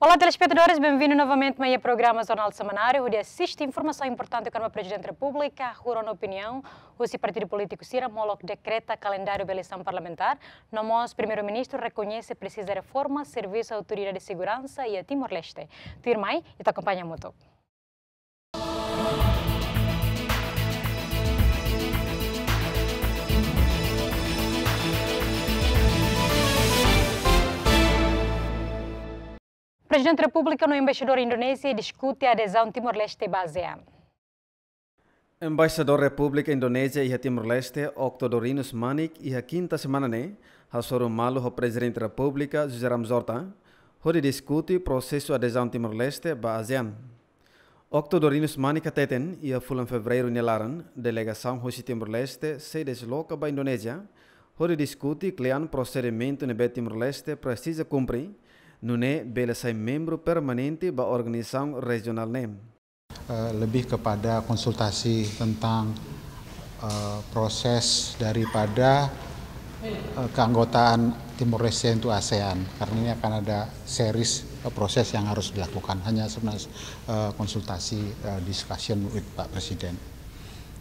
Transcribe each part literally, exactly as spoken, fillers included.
Olá, telespetadores, benvindu novamente mai iha programa Jornál Semanáriu, hodi asiste informasaun importante kona-ba Prezidente Repúblika hahú rona opiniaun husi partidu polítiku sira molok dekreta kalendáriu ba eleisaun parlamentár, no mós Primeiru-Ministru rekoñese presiza reforma servisu autoridade seguransa iha Timor-Leste. Tuirmai, ita akompaña hamutuk. Prezidente Repúblika no Embaixadór Indonézia diskute adezaun Timor-Leste ba ASEAN. Embaixadór Repúblika Indonézia iha Timor-Leste, Octo Dorinus Manik, iha kinta semana ne'e hasoru malu ho Prezidente Repúblika, José Ramos Horta, hodi diskute prosesu adezaun Timor-Leste ba ASEAN. Octo Dorinus Manik hateten, iha fulan Fevereiru nia laran, delegasaun husi Timor-Leste sei desloka ba Indonézia, hodi diskute kle'an prosedimentu ne'ebé Timor-Leste presiza kumpre, nune'e bele sai membru permanente ba organizasaun rejionál ne'e. Eh, lebih kepada konsultasi tentang, eh, proses daripada, eh, keanggotaan Timor Leste untuk ASEAN, karena ini akan ada series, eh, proses yang harus dilakukan. Hanya sebenarnya, eh, konsultasi, eh, discussion with Pak Presiden.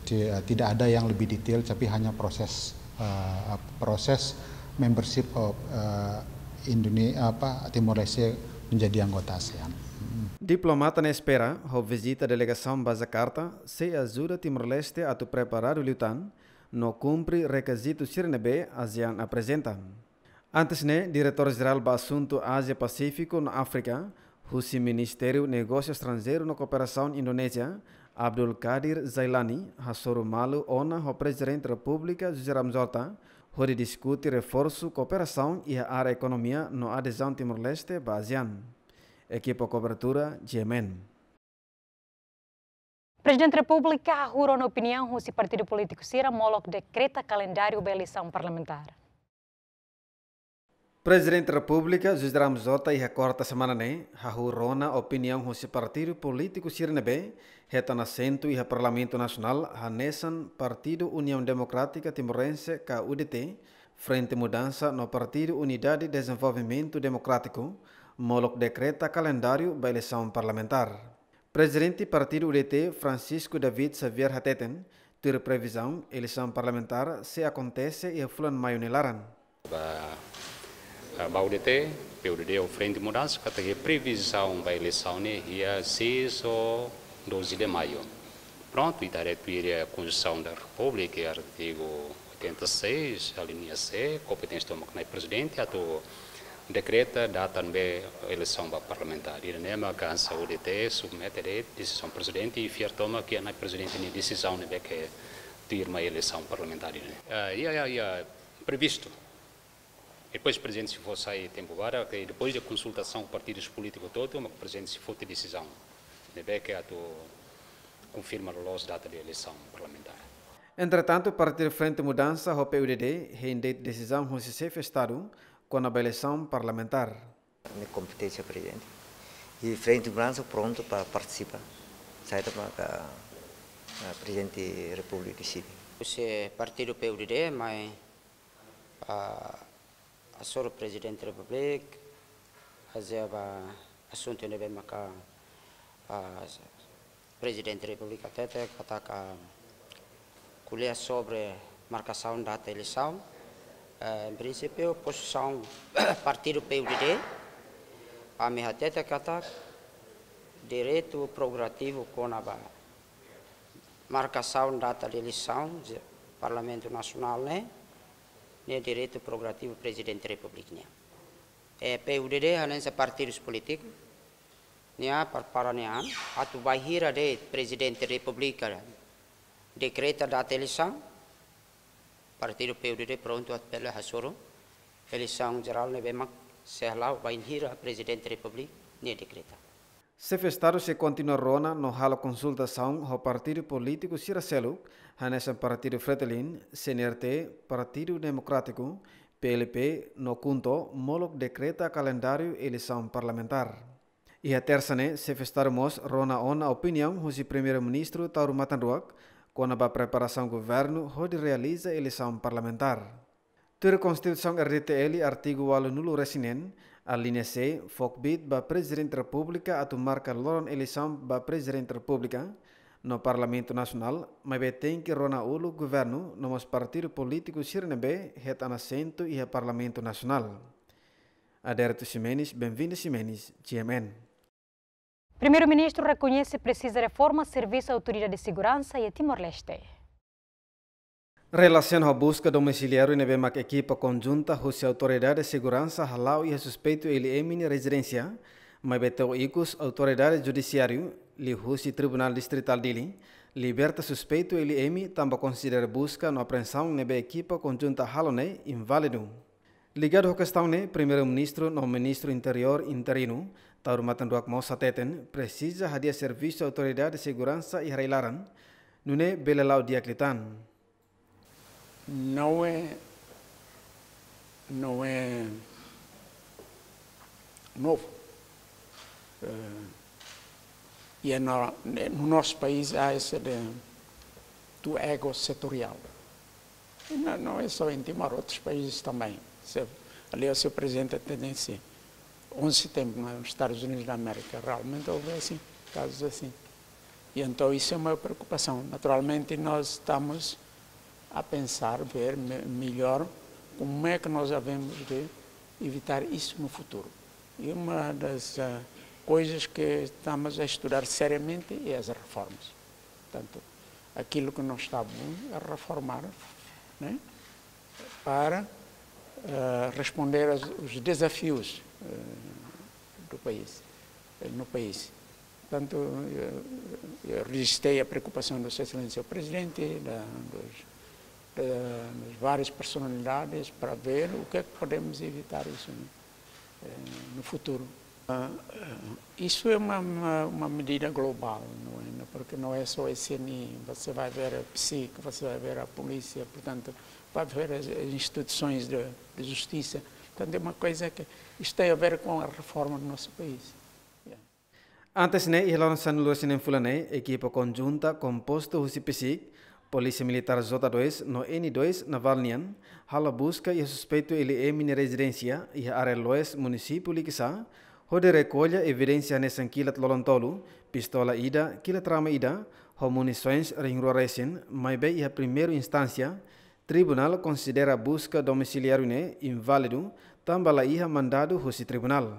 Ti-, eh, tidak ada yang lebih detail, tapi hanya proses, eh, proses membership of, eh, Indone-, apa, Timor Leste menjadi anggota ASEAN. Mm. Diplomata ne'e espera, ho vizita delegasaun ba Jakarta, sei ajuda Timor-Leste atu preparadu liután, no kumpre rekizitu sira ne'ebé ASEAN aprezenta. Antes ne'e, Diretór Jerál ba Asuntu Ázia Pasífiku no Áfrika, husi Ministériu Negósiu Estranjeiru no Kooperasaun Indonézia, Abdul Qadir Jailani, hasoru malu ona ho Prezidente Repúblika José Ramos Horta, hodi diskute reforsu kooperasaun iha área ekonomia no adezaun Timor-Leste ba ASEAN. Ekipa kobertura, G M N. Prezidente Repúblika hahú rona opiniaun husi partidu polítiku sira molok dekreta kalendáriu ba eleisaun parlamentár. Prezidente Repúblika José Ramos Horta iha kuarta semana ne'e hahú rona opiniaun husi partidu polítiku sira ne'ebé hetan asentu iha Parlamentu Nasionál, hanesan Partidu Uniaun Demokrátika Timorense ka U D T, Frente Mudansa no Partidu Unidade Dezenvolvimentu Demokrátiku, molok dekreta kalendáriu ba eleisaun parlamentár. Prezidente Partidu U D T, Francisco David Xavier hateten, tuir previzaun, eleisaun parlamentár sei akontese iha fulan Maiu nia laran. Ba, ba U D T, P U D D ou Frente Mudansa, katak previzaun ba eleisaun ne'e iha seis ou doze de Maio. Prontu, ita haree tuir Konstituisaun da Repúblika, artigu oitenta e seis, alínea C, kompeténsia tomak Nai Prezidente atu dekreta data ne'ebé eleisaun ba parlamentár. Ida-ne'e mak hanesan U D T submete de'it desizaun Prezidente i fiar tomak iha Nai Prezidente nia desizaun ne'ebé ke tuir mai eleisaun parlamentár ida-ne'e. Ah, iha, iha, iha previstu. Depois Prezidente sei fó sai tempu badak, ke depois de konsultasaun partidus polítikus hotu, mak Prezidente sei foti desizaun ne'ebé ke atu konfirma loos data de eleisaun parlamentár. Entretantu, Partidu Frente Mudansa ho P U D D hein de'it desizaun husi Xefe Estadu kona-ba eleisaun parlamentár. Ne'e kompeténsia Prezidente. I Frente Mudansa prontu para partisipa. Saida maka, ah, Prezidente Repúblika deside. Husi partidu P U D D, mai, ah, hasoru Prezidente Repúblika, haze'e ba asuntu ne'ebé maka, ah, Prezidente Repúblika hatete katak ko'alia sobre markasaun data eleisaun. Eh, em princípio, pozisaun partidu P U D D, ami hatete katak direitu prerogativu kona-ba markasaun data de eleisaun, Parlamentu Nasionál ne'e, ne'e direitu prerogativu Prezidente Repúblika nian. Eh, P U D D hanesan partidus polítiku, nia prepara nia an, atu bainhira de'it Prezidente Repúblika dekreta data eleisaun, partidu P U D D prontu atu bele hasoru eleisaun jerál ne'ebé mak sei hala'o bainhira Prezidente Repúblika nia dekreta. Xefe Estadu sei kontinua rona no halo konsultasaun ho partidu polítiku sira seluk, hanesan Partidu Fretilin, C N R T, Partidu Demokrátiku, P L P, no KHUNTO, molok dekreta kalendáriu eleisaun parlamentár. Iha tersa ne'e, Xefe Estadu mós rona ona opiniaun husi Primeiru-Ministru Taur Matan Ruak, kona-ba preparasaun governu hodi realiza eleisaun parlamentár. Tuir Konstituisaun R D T L, artigu ualunulu-resin-neen, Alínea C fó kbiit ba Prezidente Repúblika atu marka loron eleisaun ba Prezidente Repúblika no Parlamentu Nasionál, maibé tenke rona uluk governu no mós partidu polítiku sira ne'ebé hetan asentu iha Parlamentu Nasionál. Adérito Ximenes, Benvinda Ximenes, G M N. Primeiru-Ministru rekoñese presiza reforma servisu Autoridade Seguransa iha Timor-Leste. Relasiona ho buska domisiliáriu ne'ebé mak ekipa konjunta husi Autoridade Seguransa hala'o iha suspeitu L M nia rezidénsia, maibé to'o ikus Autoridade Judisiáriu, liuhusi Tribunál Distritál Dili, liberta suspeitu L M tanba konsidera buska no apreensaun ne'ebé ekipa konjunta halo ne'e inválidu. Ligadu ho kestaun ne'e, Primeiru-Ministru no Ministru Interiór interinu, Taur Matan Ruak mós hateten, presiza hadi'a servisu Autoridade Seguransa iha rai-laran, nune'e bele la'o di'ak liután. Não é, não é novo. Eh, e é na, no nosso país há essa de, do ego setorial. E não, não é só em Timor, outros países também. Se, ali o senhor presidente tem esse onze tempo nos Estados Unidos da América, realmente houve assim, casos assim. E então isso é uma preocupação. Naturalmente, nós estamos a pensar, ver me-, melhor como é que nós havemos de evitar isso no futuro. E uma das, ah, coisas que estamos a estudar seriamente é as reformas. Portanto, aquilo que não está bom é reformar, né? Para, eh, responder aos, os desafios, eh, do país, eh, no país. Portanto, eu, eu registrei a preocupação do Sua Excelência o Presidente, da, dos, da, das várias personalidades, para ver o que é que podemos evitar isso, né? Eh, no futuro. Ah, eh, isso é uma, uma, uma medida global, não é? Porque não é só a C N I, você vai ver a psic, você vai ver a polícia, portanto, vai ver as, as instituições de, de justiça. Portanto, é uma coisa que isto tem a ver com a reforma do nosso país. Yeah. Antes ne'e, iha loron sanulu-resin-neen fulan ne'e, ekipa konjunta kompostu husi psic, Polísia Militár J dois no N dois Naval nian, halo buska iha suspeitu L M nia rezidénsia iha área Loes, munisípiu Likisá, hodi rekolla evidénsia hanesan kilat lolon tolu, pistola ida, kilat rama ida, ho munisoens rihun rua resin, maibé iha primeiru instánsia, tribunál konsidera buska domisiliáriu ne'e inválidu, tanba la iha mandadu husi tribunál.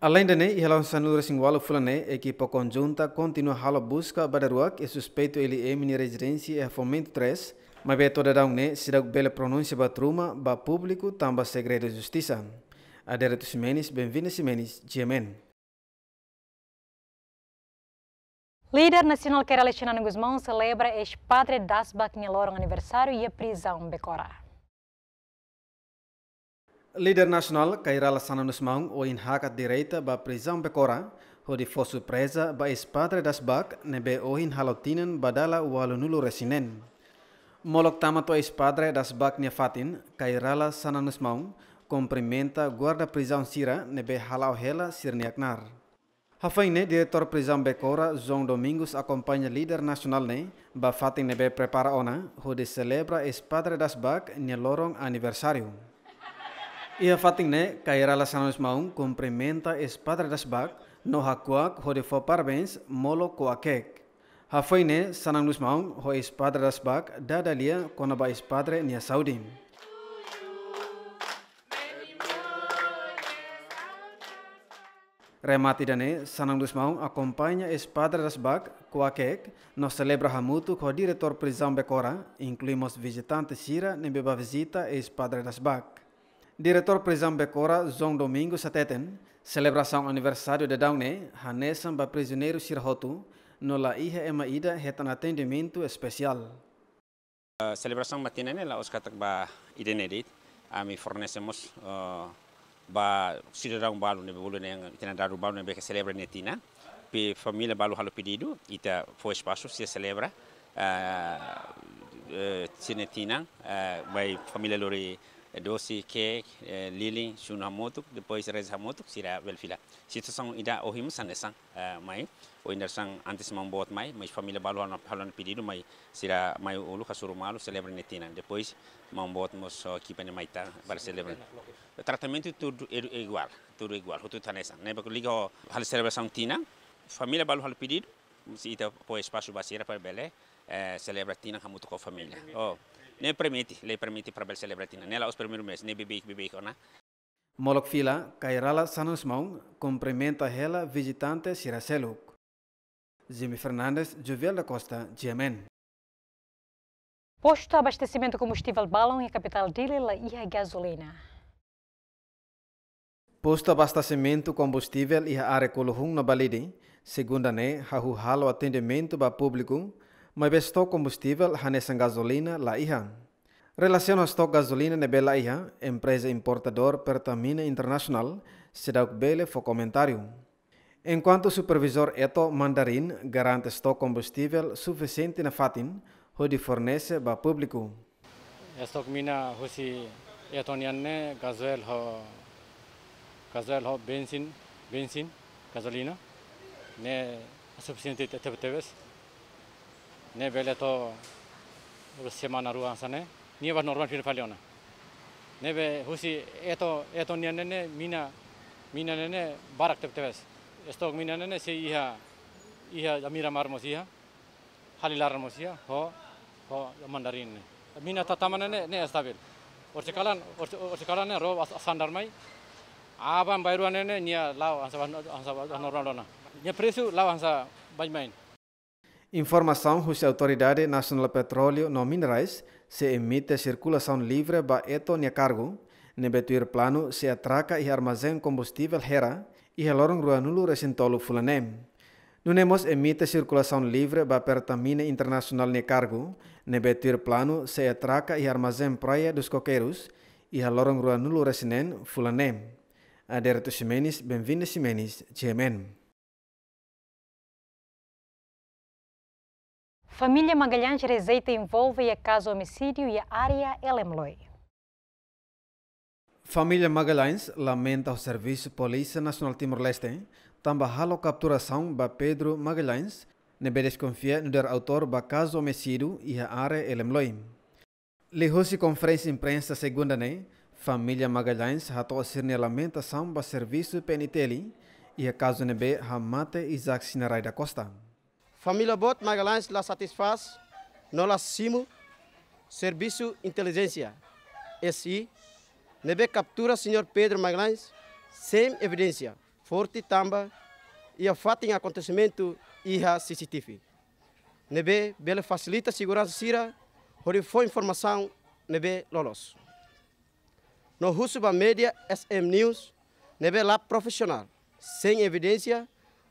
Aleinde ne'e, iha loron sanulu-resin-ualu fulan ne'e, ekipa konjunta kontinua halo buska ba daruak iha suspeitu L M nia rezidénsia iha Fomento três, maibé to'o daudaun ne'e seidauk bele pronunsia buat ruma ba públiku tanba segredu justisa. Adérito Ximenes, Benvinda Ximenes, G M N. Líder nasionál Kay Rala Xanana Gusmão selebra eis-padre Dasbak nia loron aniversáriu iha prizaun Becora. Líder nasionál Kay Rala Xanana Gusmão ohin hakat direta ba prizaun Becora, hodi fó surpreza ba eis-padre Dasbak ne'ebé ohin halo tinan ba dala ualunulu-resin-neen. Molok tama to'o eis-padre Dasbak nia fatin, Kay Rala Xanana Gusmão kumprimenta guarda prizaun sira ne'ebé hala'o hela sira-nia knaar. Hafoin ne'e, Diretór Prizaun Becora, João Domingos, akompaña líder nasionál ne'e ba fatin ne'ebé prepara ona hodi selebra eis-padre Dasbak nia loron aniversáriu. Iha fatin ne'e, Kay Rala Xanana Gusmão kumprimenta eis-padre Dasbak no hakuak hodi fó parabéns, molok ko'a keek. Hafoin ne'e, Xanana Gusmão ho eis-padre Dasbak dada lia kona-ba eis-padre nia saúde. Remata ida-ne'e, Xanana Gusmão akompaña eis-padre Dasbak ko'a keek no selebra hamutuk ho Diretór Prizaun Becora, inklui mós vizitante sira ne'ebé bá vizita eis-padre Dasbak. Diretór Prizaun Becora, João Domingos, hateten, selebrasaun aniversáriu daudaun ne'e hanesan ba prizioneiru sira hotu, no la iha ema ida hetan atendimentu espesiál. Eh, selebrasaun ba tinan ne'e la'ós katak ba ida-ne'e de'it, ami fornese mós, eh, ba sidadaun balu ne'ebé bolu ne'e, tinan dadu balu ne'ebé ke selebra nia tinan. Pe família balu halo pedidu, ita fó espasu sira selebra, eh, eh, sira-nia tinan, eh, mai família lori, Dosi, keek, eh, lilin, sunu hamutuk, depois reza hamutuk, sira bele fila. Situasaun ida ohin mós hanesan, eh, mai, ohin dadeer-saan antes maun boot mai, mas família balu halo, halo pedidu, mai sira mai uluk hasoru malu, selebra nia tinan. Depois maun boot mós, eh, ekipa ne'e mai tan para selebra. Tratamentu tudu i-, iguál, tudu iguál, hotu hanesan. Ne'e baku liga ho halo selebrasaun tinan, família balu halo pedidu, se ita fó espasu ba sira para bele, eh, selebra tinan hamutuk ho família. Oh, ne'e permite, lei permite para bele selebra tinan. Ne'e la'ós primeiru vez, ne'e beibeik, beibeik ona. Molok fila, Kairala Sanus Maun kumprimenta hela vizitante sira seluk. Jimmy Fernandes, Jovial da Costa, G M N. Postu abastesimentu kombustivel balun iha kapitál Dili la iha gazolina. Postu abastesimentu kombustivel iha área Kuluhun no Balide, segunda ne'e hahú halo atendimentu ba públiku, maibé estok kombustivel hanesan gazolina la iha. Relasiona ho estok gazolina ne'ebé la iha, empreza importadór Pertamina Internasionál seidauk bele fó komentáriu. Enkuantu supervizór Eto Mandarin garante estok kombustivel sufisiente nafatin hodi fornese ba públiku. Estok mina husi Eto nian ne'e gazóil ho, gazóil ho bensin, bensin, gazolina. Ne'e sufisiente te-, te-, tebes. Ne'e bele to'o semana rua hanesan ne'e. Nia ba normal fila fali ona. Ne'ebé husi Eto, Eto nian ne'e, ne'e mina, mina ne'e, ne'e barak tebetebes. Estok mina ne'e, ne'e sei iha, iha Miramar mós iha. Halilaran mós iha, ho, ho Mandarin ne'e. Mina tataman ne'e, ne'e estabil. Orsida kalan, orsida, orsida kalan ne'e ró as-, sandar mai. Aban-bainrua ne'e, ne'e nia la'o hanesan, hanesan normal ona. Nia presu la'o hanesan baibain. Informasaun husi Autoridade Nasionál Petróleu no Minerais sei emite sirkulasaun livre ba Eto nia kargu, ne'ebé tuir planu sei atraka iha armazén kombustivel Hera, iha loron ruanulu-resin-tolu fulan ne'e. Nune'e mós emite sirkulasaun livre ba Pertamina Internasionál nia kargu, ne'ebé tuir planu sei atraka iha armazén Praia dos Coqueiros, iha loron ruanulu-resin-neen fulan ne'e. Adérito Ximenes, Benvinda Ximenes, G M N. Família Magalhães rejeita envolve iha kazu omisídiu iha área Elemloi. Família Magalhães lamenta ho Servisu Polísia Nasionál Timor-Leste, tanba halo kapturasaun ba Pedro Magalhães, ne'ebé deskonfia nu'udar autór ba kazu omisídiu iha área Elemloi. Liuhusi konferénsia imprensa segunda ne'e, família Magalhães hato'o sira-nia lamentasaun ba servisu P N T L iha kazu ne'ebé hamate Isaac Sinarai da Costa. Família boot Magalhães la satisfás no la simu Servisu Intelijénsia, S I, ne'ebé kaptura señór Pedro Magalhães sein evidénsia forte tanba iha fatin akontesimentu iha C C T V ne'ebé bele fasilita seguransa sira hodi fó informasaun ne'ebé loloos. No husu ba média S M News ne'ebé la profisionál, sein evidénsia,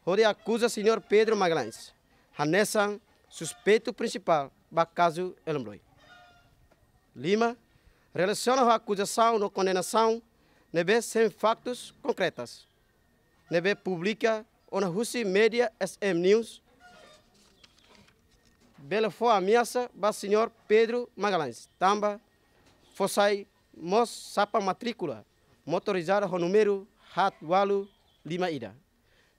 hodi akuza señór Pedro Magalhães hanesan suspeitu prinsipál ba kazu Elemloi. Lima, relasiona ho akuzasaun no kondenasaun ne'ebé sein faktus konkretas ne'ebé publika ona husi média S M News bele fó ameasa ba señór Pedro Magalhães tanba fó sai mós sapan matríkula motorizada ho númeru haat ualu lima ida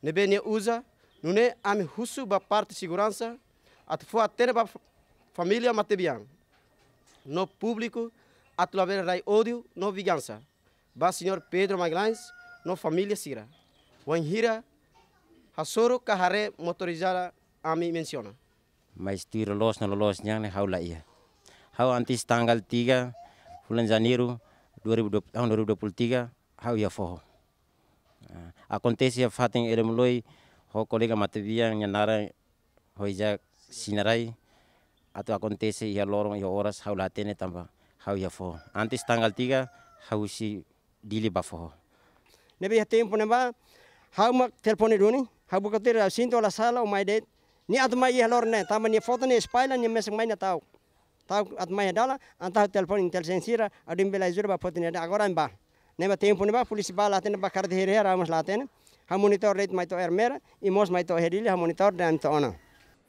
ne'ebé nia uza. Nune'e ami husu ba parte seguransa atu fó hatene ba fa-, família matebian no públiku atu labele rai ódiu no vingansa ba señór Pedro Magalhães no família sira wainhira hasoru ka haree motorizada ami mensiona. Mas tuir loloos no loloos nian ne'e ha'u la iha. Ha'u antes tanggal tiga fulan Janeiru dua ribu dua puluh, tahun dua ribu dua puluh tiga, ha'u iha foho. Ah, akontese iha fatin Elemloi ho kolega matebian nia naran ho Isaac Sinarai, atu akontese iha loron iha oras ha'u la hatene tanba ha'u iha foho. Antes tanggal tiga ha'u husi Dili ba foho. Ne'ebé iha tempu ne'ebá, ha'u mak telefone duni, ha'u buka tuir, ha'u sinto la sala, o mai de'it. Nia atu mai iha loron ne'e, tanba nia foto nia espalla, nia mesak mai nia ta'uk. Ta'uk atu mai iha dalan, entaun ha'u telefone intelijen sira, ha'u dehan bele ajuda ba foto nia de'it, agora ne'ebá. Ne'ebá tempu ne'ebá, polísia bá la hatene, bá kaer de'it heri-heri, ha'u mós la hatene. Ha'u monitor de'it mai to'o Ermera, i mós mai to'o iha Dili, ha'u monitor de'it ami to'o ona.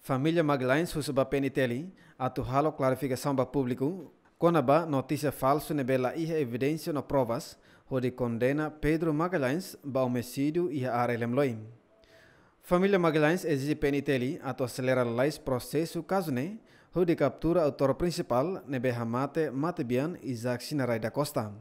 Família Magalhães husu ba P N T L atu halo klarifikasaun ba públiku, Kona-ba notísia falsu ne'ebé la iha evidénsia no provas, hodi kondena Pedro Magalhães ba omisídiu iha área Lemloi. Família Magalhães ezije P N T L atu aselera lalais prosesu kazu ne'e, hodi kaptura autór prinsipál ne'ebé hamate matebian Isaac Sinarai da Costa.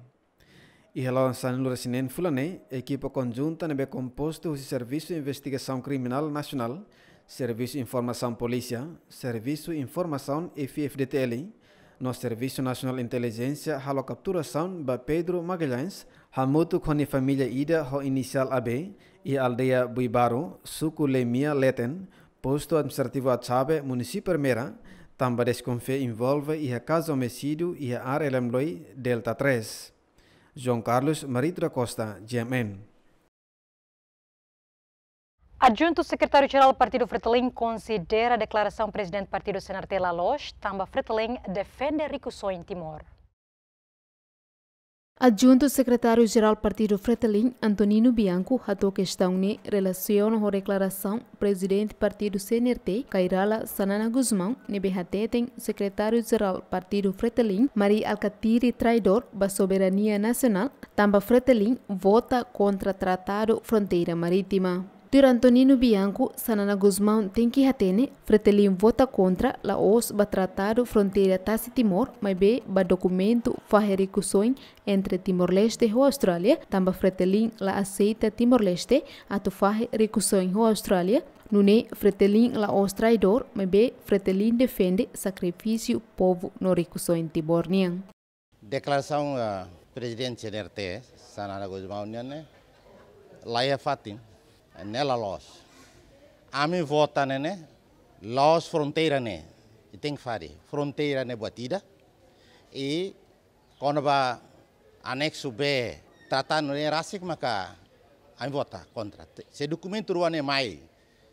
Iha loron sanulu-resin-neen fulan ne'e, ekipa konjunta ne'ebé kompostu husi Servisu Investigasaun Kriminál Nasionál, Servisu Informasaun Polísia, Servisu Informasaun F I F D T L, no Servisu Nasionál Intelijénsia halo kapturasaun ba Pedro Magalhães, hamutuk ho nia família ida ho inisiál A B, iha aldeia Buibaru, suku Lemia Leten, postu administrativu Atsabe, munisípiu Ermera, tanba deskonfia envolve iha kazu omisídiu iha área Lemloi, Delta três. João Carlos Marito da Costa, G M N. Adjuntu Sekretáriu-Jerál Partidu Fretilin konsidera deklarasaun Prezidente Partidu C N R T la loos, tanba Fretilin defende rikusoin Timor. Adjuntu Sekretáriu-Jerál Partidu Fretilin, Antonino Bianco, hato'o kestaun ne'e relasiona ho deklarasaun Prezidente Partidu C N R T, Kay Rala Xanana Gusmão, ne'ebé hateten Sekretáriu-Jerál Partidu Fretilin, Mari Alkatiri, traidór ba soberania nasionál, tanba Fretilin vota kontra Tratadu Fronteira Marítima. Tuir Antonino Bianco, Xanana Gusmão tenke hatene, Fretilin vota kontra la'ós ba Tratadu Fronteira Tasi Timor, maibé ba dokumentu fahe rikusoin entre Timor-Leste ho Austrália, tanba Fretilin la aseita Timor-Leste atu fahe rikusoin ho Austrália, nune'e Fretilin la'ós traidór, maibé Fretilin defende sakrifísiu povu no rikusoin Timor nian. Deklarasaun, ah, Prezidente C N R T, Xanana Gusmão nian ne'e, la iha fatin, ne'e la loos. Ami vota ne'e ne'e, la'ós fronteira ne'e, i tenke fari, fronteira ne'e buat ida, i kona-ba aneksu B, tratadu ne'e rasik maka ami vota kontra. Se dokumentu rua ne'e mai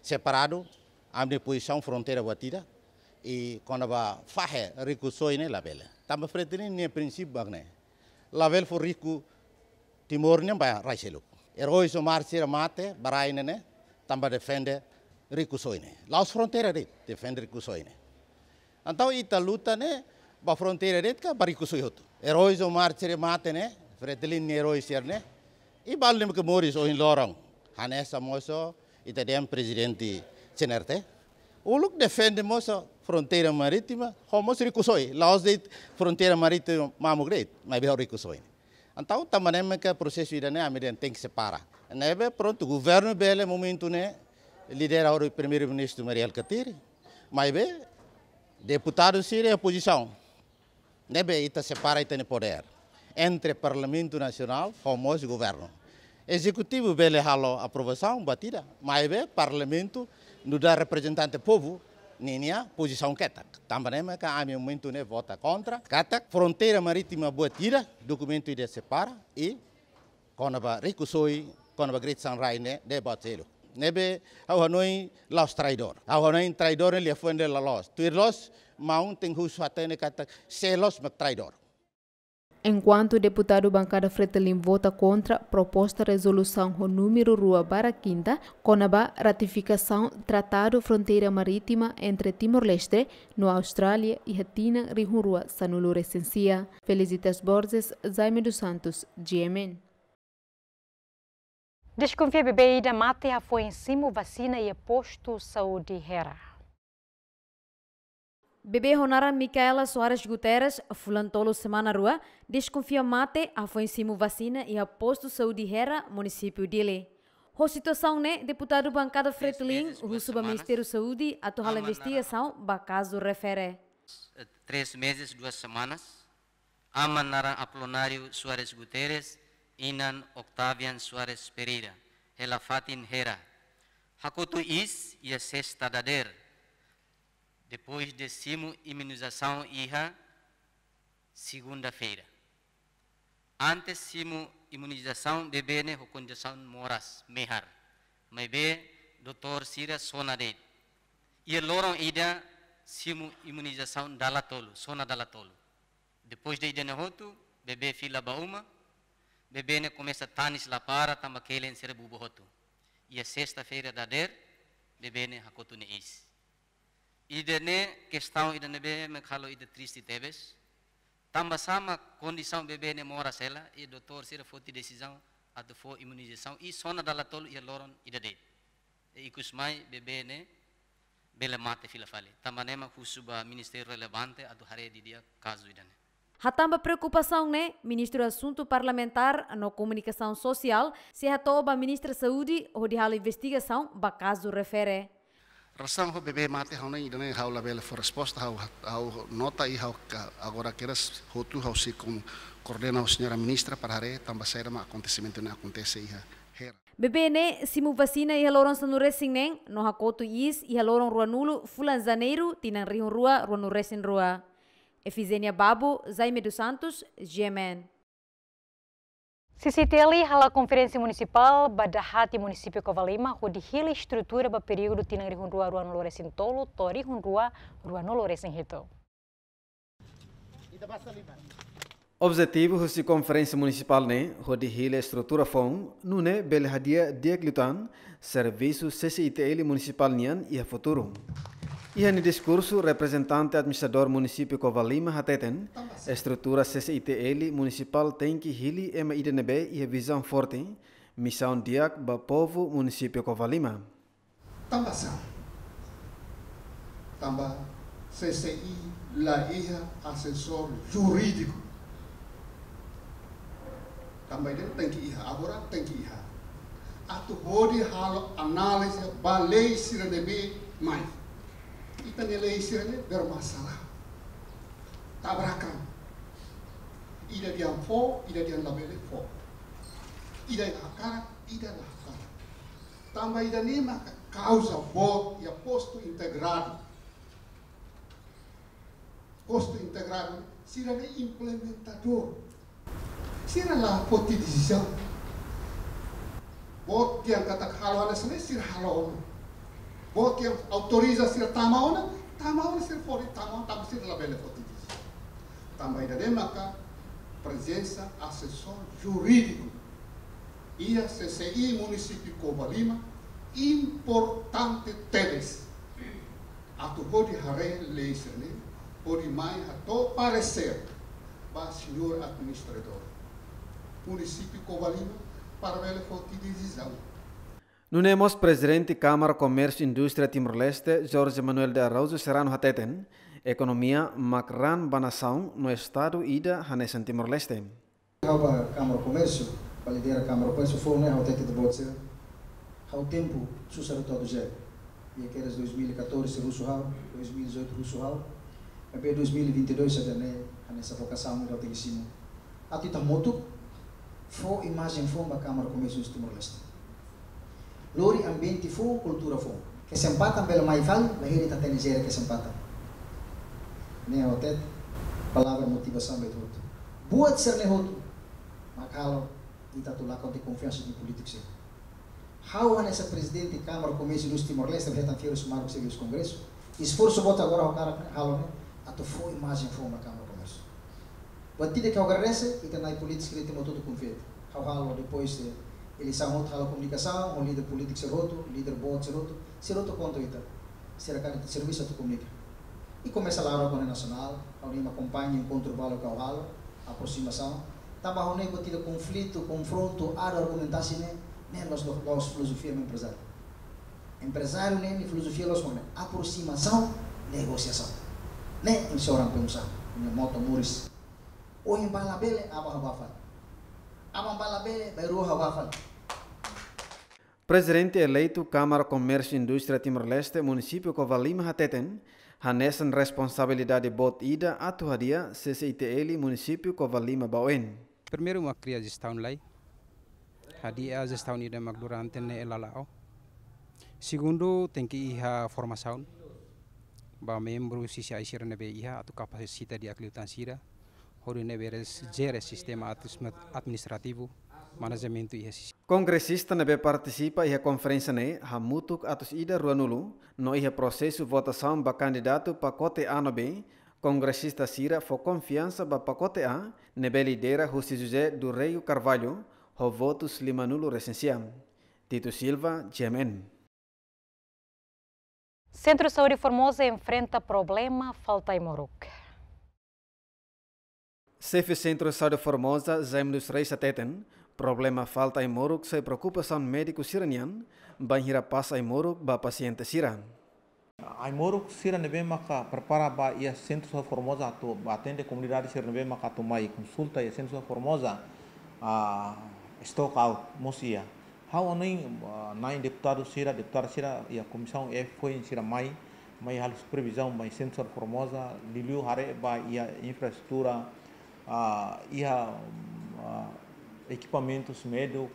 separadu, ami-nia pozisaun fronteira buat ida, i kona-ba fahe rikusoin ne'e labele. Tanba Fretilin nia prinsípiu mak ne'e. Labele fó riku Timor nian ba rai seluk. Erói ho mártir sira mate ba rai ne'e ne'e, tanba defende rikusoin ne'e. La'ós fronteira de'it, defende rikusoin ne'e. Entaun ita luta ne'e ba fronteira de'it ka ba rikusoin hotu. Erói ho mártir sira mate ne'e, Fretilin nia erói sira ne'e. I balu ne'ebé ke moris ohin loron. Hanesan mós ita-nia Prezidente C N R T. Uluk defende mós fronteira marítima, ho mós rikusoin. La'ós de'it fronteira marítima mamuk de'it, maibé ho rikusoin. Entaun, tanba ne'e maka prosesu ida-ne'e ami dehan tenke separa. Ne'ebé prontu, governu bele momentu ne'e lidera ho Primeiru-Ministru Mari Alkatiri, maibé deputadu sira iha pozisaun. Ne'ebé ita separa ita-nia podér entre Parlamentu Nasionál ho mós governu. Ezekutivu bele halo aprovasaun, buat ida, maibé Parlamentu nu'udar reprezentante povu ninia pozisaun ketak. Tanba ne'e maka ami momentu ne'e vota kontra, katak fronteira marítima buat ida, dokumentu ida separa, i kona-ba rikusoin, kona-ba Great Sangrai ne'e, ne'e buat seluk. Ne'ebé ha'u hanoin la'ós traidór. Ha'u hanoin traidór ne'e liafuan ida la loos. Tuir loos, maun tenke husu hatene katak sé loos mak traidór. Enkuantu deputadu bankada Fretilin vota kontra proposta rezolusaun ho númeru rua barra kinta, kona-ba ratifikasaun Tratadu Fronteira Marítima entre Timor-Leste no Austrália iha tinan rihun rua sanulu-resin-sia. Felicitas Borges, Jaime dos Santos, G M N. Deskonfia bebé ida mate hafoin simu vasina iha postu saúde Hera. Bebé ho naran Micaela Soares Guterres, fulan tolu semana rua, deskonfia mate hafoin simu vasina iha postu saúde Hera, munisípiu Dili. Ho situasaun ne'e, deputadu bankada Fretilin husu ba Ministériu Saúde atu halo investigasaun ba kazu refere. Três meses, duas semanas. Aman naran Apolonário Soares Guterres, inan Octavian Soares Pereira, hela fatin Hera. Hakotu iis iha sesta dadeer, depois de simu imunizasaun iha segunda-feira. Antes simu imunizasaun bebé ne'e ho kondisaun moras, mehar. Maibé doutór sira sona de'it. Iha loron ida simu imunizasaun dala tolu, sona dala tolu. Depois de ida-ne'e hotu, bebé fila ba uma, bebé ne'e komesa tanis la para tanba kelen sira bubu hotu. Iha sesta-feira dadeer, bebé ne'e hakotu nia iis. Ida-ne'e kestaun ida ne'ebé mak halo ita triste tebes. Tanba sá mak kondisaun bebé ne'e moras hela, i doutór sira foti desizaun atu fó imunizasaun, i sona dala tolu iha loron ida de'it. I ikus mai bebé ne'e bele mate fila fali. Tanba ne'e mak husu ba ministériu relevante atu haree didi'ak kazu ida-ne'e. Hatán ba preokupasaun ne'e, Ministru Asuntu Parlamentár no Komunikasaun Sosiál sei hato'o ba Ministra Saúde hodi halo investigasaun ba kazu refere. Relasaun ho bebé mate, ha'u-nia ida-ne'e ha'u labele fó resposta, ha'u, ha'u nota i ha'u ka-, agora kedas hotu ha'u sei koordena ho señora ministra para haree tanba saida mak akontesimentu ne'e akontese iha Hera. Bebé ne'e simu vasina iha loron sanulu-resin-neen no hakotu iis iha loron ruanulu fulan Janeiru tinan rihun rua ruanulu-resin-rua. Efizenia Babu, Jaime dos Santos, G M N. C C I T L hala'o konferénsia munisipál ba dahati munisípiu Covalima hodi hili estrutura ba períodu tinan rihun rua ruanulu-resin-tolu to'o rihun rua ruanulu-resin-hitu. Objetivu husi konferénsia munisipál ne'e hodi hili estrutura foun, nune'e bele hadi'a di'ak liután servisu C C I T L munisipál nian iha futuru. Iha nia diskursu, reprezentante administradór munisípiu Covalima hateten, estrutura C C I T L munisipál tenke hili ema ida ne'ebé iha vizaun forte, misaun di'ak ba povu munisípiu Covalima. Tanba sá? Tanba C C I la iha asesór jurídiku. Tanba ida tenke iha, agora tenke iha. Atu hodi halo análize ba lei sira ne'ebé mai. Ita-nia lei sira ne'e bermasalah. Tabrakan. Ida dehan fó, ida dehan labele fó. Ida hakarak, ida la hakarak. Tanba ida-ne'e maka kauza boot iha postu integradu. Postu integradu, sira ne'e implementadór. Sira la foti desizaun. Boot dehan katak halo hanesan ne'e, sira halo ona. Boot dehan autoriza sira tama ona, tama ona, sira foti tama ona, tanba sira labele foti desizaun. Tanba ida-ne'e maka prezensa asesór jurídiku iha C C I munisípiu Covalima importante tebes. Atu hodi haree lei sira-ne'e, hodi mai hato'o paresér ba señór administradór munisípiu Covalima para bele foti desizaun. Nune'e mós Prezidente Kámara Komérsiu Indústria Timor-Leste, Jorge Manuel de Araújo Serrano hateten, ekonomia mak raan ba nasaun no estadu ida hanesan Timor-Leste. Ha'u ba Kámara Komérsiu, ba lidera Kámara Komérsiu foun ne'e ha'u hatete ita-boot sira. Ha'u tempu susar hotu atu jere. Iha kedas dois mil e catorze husu ha'u, dois mil e dezoito husu ha'u. Maibé dois mil e vinte e dois ida-ne'e, hanesan vokasaun ida ha'u tenke simu. Atu ita hamutuk, fó imajen foun ba Kámara Komérsiu Indústria Timor-Leste. Lori ambiente foun, kultura foun. Kesempatan bele mai fali, la heri ita hatene jere kesempatan. Ne'e ha'u hatete, palavra motivasaun ba ita hotu. Buat sira-ne'e hotu mak halo ita atu lakon tiha konfiansa iha polítiku sira. Ha'u hanesan Prezidente Kámara Komérsiu Indústria Timor-Leste, hetan fiar husi Marco Sebius Kongresu. Esforsu boot agora ha'u hakarak halo ne'e, atu fó imajen foun ba Kámara Komérsiu. Buat ida ke ha'u agradese, ita-nia polítiku sira ita hotu konfia. Ha'u halo depois de eleisaun hotu halo komunikasaun, ho líder polítiku sira hotu, líder boot sira hotu, sira hotu konta ita. Sira karik servisu atu komunika. I komesa laran ko'alia nasionál, ha'u-nia akompaña enkontru balu ke ha'u halo, aproximasaun. Tanba ha'u-nia buat ida konflitu, konfrontu, adu argumentasi ne'e, ne'e la'ós, la'ós filozofia ema emprezáriu. Emprezáriu ne'e, nia filozofia la'ós mak ne'e, aproximasaun, negosiasaun. Ne'e ema seorang pengusaha, nia moto moris. Ohin bá labele, aban ha'u bá fali. Aban bá labele, bainrua ha'u bá fali. Prezidente eleitu Kámara Komérsiu Indústria Timor-Leste, munisípiu Covalima hateten, hanesan responsabilidade boot ida atu hadi'a C C I T L munisípiu Covalima ba oin. Primeiru mak kria jestaun lai. Hadi'a jestaun ida mak durante ne'e la la'o. Segundu, tenke iha formasaun ba membru C C I sira ne'ebé iha atu kapasita di'ak liután sira, hodi nune'e bele jere sistema admis-, administrativu, manajementu iha C C I. Kongresista ne'ebé partisipa iha konferénsia ne'e hamutuk atus ida ruanulu, no iha prosesu votasaun ba kandidatu pakote A no B, kongresista sira fó konfiansa ba pakote A, ne'ebé lidera husi José do Rego Carvalho, ho votus limanulu-resin-sia. Tito Silva, G M N. Centro Saúde Formosa enfrenta problema falta ai-moruk. Xefe Sentru Saúde Formosa, Jaime dos Reis hateten, problema falta ai-moruk sai preokupasaun médiku sira-nian, bainhira pasa ai-moruk ba pasiente sira. Ai-moruk sira ne'ebé maka prepara ba iha Sentru Saúde Formosa atu ba atende komunidade sira ne'ebé maka atu mai konsulta iha Sentru Saúde Formosa, ah, stock out mós iha. Ha'u hanoin, ah, na'in deputadu sira, deputada sira iha Komisaun F foin sira mai, mai halo supervizaun ba Sentru Saúde Formosa, liuliu haree ba iha infraestrutura, ah, iha, ah, ekipamentus médiku,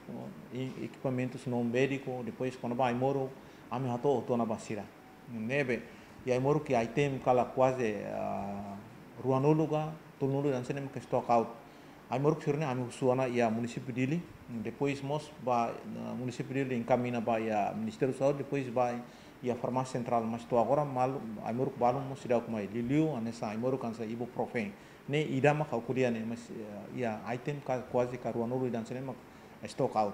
i-, ekipamentus non médiku, depois kona-ba ai-moruk, ami hato'o ona ba sira. Ne'ebé, iha ai-moruk iha item kala kuaze, ah, ruanulu ka tolunulu ida-ne'e mak stock out. Ai-moruk sira-ne'e ami husu ona iha munisípiu Dili, depois mós ba, ah, munisípiu Dili enkamiña ba iha Ministériu Saúde, depois ba iha Farmásia Sentrál, mas to'o agora malu, ai-moruk balun mós seidauk mai, liuliu hanesan ai-moruk hanesan ibuprofen. Ne'e ida mak ha'u ko'alia ne'e, mas, eh, iha item ka, kuaze ka ruanulu ida-ne'e mak stock out.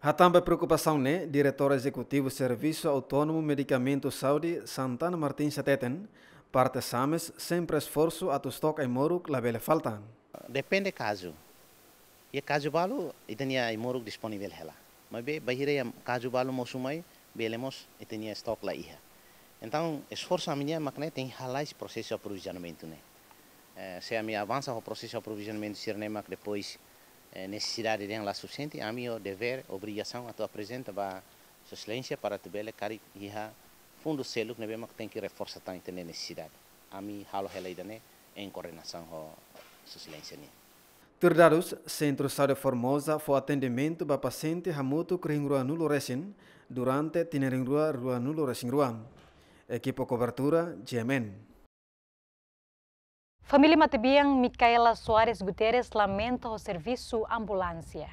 Hatán ba preokupasaun ne'e, Diretór Ezekutivu Servisu Autónomu Medikamentu Saúde, Santana Martins hateten, parte SAMES sempre esforsu atu stok ai-moruk labele falta. Depende kazu. Iha kazu balu, ita-nia ai-moruk disponivel hela. Maibé, bainhira iha kazu balu mosu mai, bele mós ita-nia stok la iha. Entaun, esforsu ami-nian mak ne'e tenke hala'o prosesu aprovizionamentu ne'e. Eh, se ami avansa ho prosesu aprovizionamentu sira-ne'e mak depois, eh, nesesidade dehan la sufisiente, ami ho dever, obrigasaun atu aprezenta ba Sua Exelénsia para atu bele karik iha fundu seluk ne'ebé mak tenke reforsa tan ita-nia nesesidade. Ami halo hela ida-ne'e en koordenasaun ho Sua Exelénsia nian. Tuir dadus, Sentru Saúde Formosa fó atendimentu ba pasiente hamutuk rihun rua nulu resin durante tinan rihun rua rua nulu resin rua. Ekipa kobertura, G M N. Família matebian Micaela Soares Guterres lamenta ho servisu ambulánsia.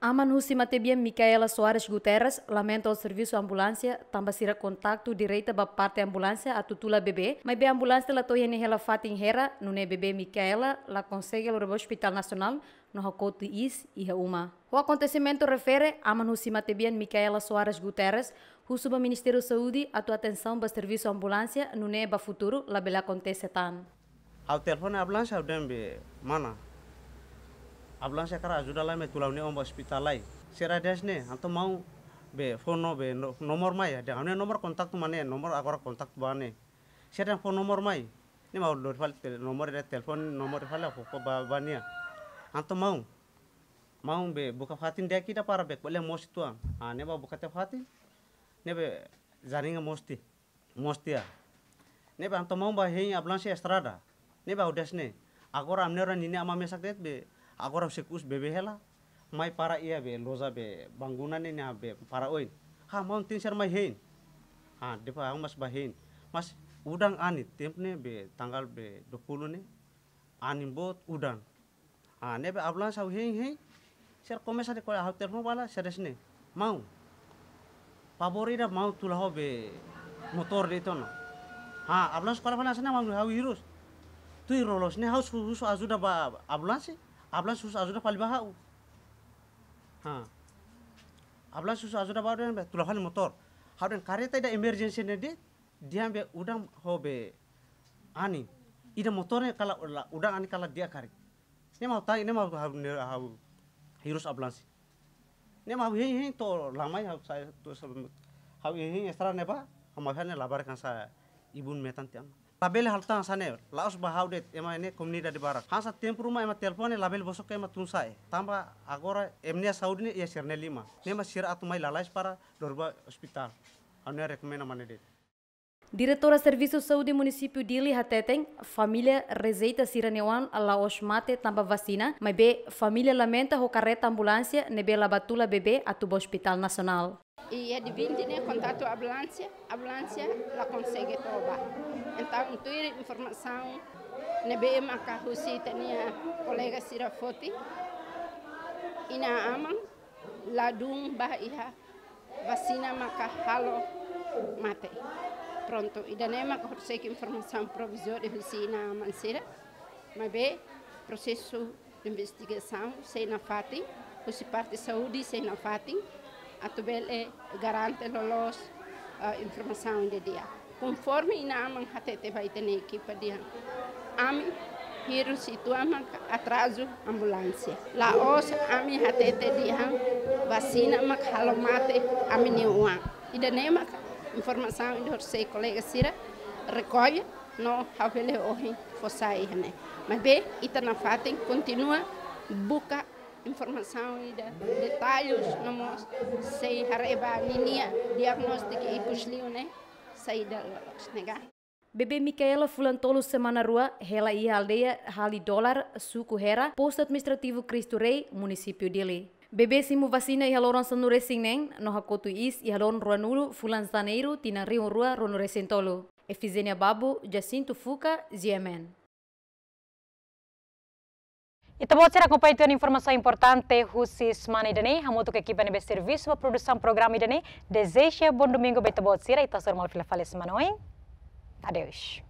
Aman husi matebian Micaela Soares Guterres lamenta ho servisu ambulánsia, tanba sira kontaktu direta ba parte ambulánsia atu tula bebé, maibé ambulánsia la to'o iha nia hela fatin hela, nune'e bebé Micaela la konsege lori ba Hospital Nasionál, no hakotu iis iha uma. Ho akontesimentu refere, aman husi matebian Micaela Soares Guterres husu ba Ministériu Saúde atu atensaun ba servisu ambulánsia, nune'e ba futuru labele akontese tan. Ha'u telefone ambulánsia, ha'u dehan be mana, ambulánsia hakarak ajuda lai mai tula ha'u-nia oan ba ospitál lai. Sira dehan ne'e, entaun maun be fó no be no-, nomor mai, dehan ha'u-nia nomor kontaktu mak ne'e, nomor agora kontaktu ba ne'e. Sira dehan fó nomor mai. Ne'e mak ha'u lori fali tel-, nomor ida telefone, nomor ida fali ha'u fó ba, ba nia. Entaun maun, maun be buka fatin di'ak ida para be ko'alia moos uitoan. Ah, ne'e mak buka tiha fatin. Ne'ebé jaringa moos tiha, moos tiha. Ne'ebé entaun maun bá hein ambulánsia estrada. Ne'ebé ha'u dehan ne'e, agora ami-nia oan ninia aman mesak de'it be, agora husik husi bebé hela, mai para iha be loja be bangunan ne'e, ne'e be para oin. Ha, maun tenke ser mai hein. Ha, depois ha'u mós bá hein. Mas udan anin, tempu ne'e be tanggal be dua puluh ne'e, anin boot udan. Ah, ne'ebé ambulánsia ha'u hein, hein. Sira komesa dehan ko'alia, ha'u telefone ba nia, sira dehan ne'e, maun, favór ida maun tula ha'u be motór de'it ona. Ha, ambulánsia ko'alia fali hanesan ne'e, maun, ha'u hirus. Tuir loloos ne'e ha'u husu, husu ajuda ba ambulánsia, ambulánsia husu ajuda fali ba ha'u. Ha. Ambulánsia husu ajuda ba ha'u dehan be tula fali motór. Ha'u dehan kareta ida emerjénsia ne'e de'it, dehan be udan ho be anin. Ida motór ne'e kala la, udan anin kala di'ak karik. Ne'e mak ha'u tanya, ne'e mak ha'u, ne'e ha'u hirus ambulánsia. Ne'e mak ha'u hein, hein to'o la mai ha'u sai, to'o sa-, ha'u hein, hein estrada ne'ebá, ha'u mai fali ne'e labarik hanesan ibun metan tiha ona. Labele halo tan hanesan ne'e, la'ós ba ha'u de'it, ema ne'e komunidade barak. Hanesan tempu ruma ema telefone labele bosok ema tun sa'e. Tanba agora ema nia saúde ne'e iha sira-nia liman. Ne'e mak sira atu mai lalais para lori ba ospitál. Ha'u-nia rekomenda mak ne'e de'it. Diretora Servisu Saúde Munisípiu Dili hateten, família rejeita sira-nia oan la'ós mate tanba vasina, maibé família lamenta ho kareta ambulánsia ne'ebé la bá tula bebé atu ba Hospital Nasionál. Iha dia vinte ne'e kontaktu ambulánsia, ambulánsia la konsege to'o bá. Entaun, tuir informasaun ne'ebé maka husi ita-nia kolega sira foti, inan-aman ladún bá iha vasina maka halo mate. Prontu, ida-ne'e maka horiseik informasaun provizóriu husi inan-aman sira. Maibé prosesu investigasaun sei nafatin, husi parte saúde sei nafatin, atu bele garante loloos, eh, informasaun ida di'ak. Konforme inan-aman hatete ba ita-nia ekipa dehan, ami hirus uitoan maka atrazu ambulánsia. La'ós ami hatete dehan vasina maka halo mate ami-nia oan. Ida-ne'e maka informasaun ida horisehik kolega sira rekolla no ha'u bele ohin fó sai iha ne'e. Maibé ita nafatin kontinua buka informasaun ida, detalles no mós sei haree ba ninia diagnóstiku ikus liu ne'e saida loloos ne'e ka. Bebé Micaela fulan tolu semana rua hela iha aldeia Hali Dolar, suku Hera, postu administrativu Cristo Rei, munisípiu Dili. Bebé simu vasina iha loron sanulu-resin-neen no hakotu iis iha loron ruanulu fulan Janeiru tinan rihun rua ruanulu-resin-tolu. Efigénia Babu, Jacinto Fuca, G M N. Ita-boot sira akompaña tiha ona informasaun importante husi semana ida-ne'e, hamutuk ho ekipa ne'ebé servisu ba produsaun programa ida-ne'e. Dezeja bom domingu ba ita-boot sira, ita hasoru malu fila fali semana oin. Adeus.